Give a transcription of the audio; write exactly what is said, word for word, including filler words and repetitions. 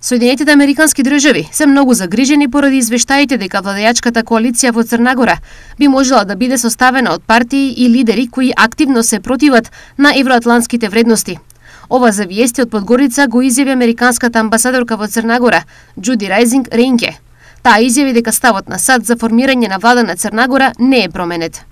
Соединетите американски држави се многу загрижени поради извештаите дека владеачката коалиција во Црна Гора би можела да биде составена од партии и лидери кои активно се противат на евроатлантските вредности. Ова за виести од Подгорица го изјави американската амбасадорка во Црна Гора, Џуди Рајзинг Рейнке. Таа изјави дека ставот на САД за формирање на влада на Црна Гора не е променет.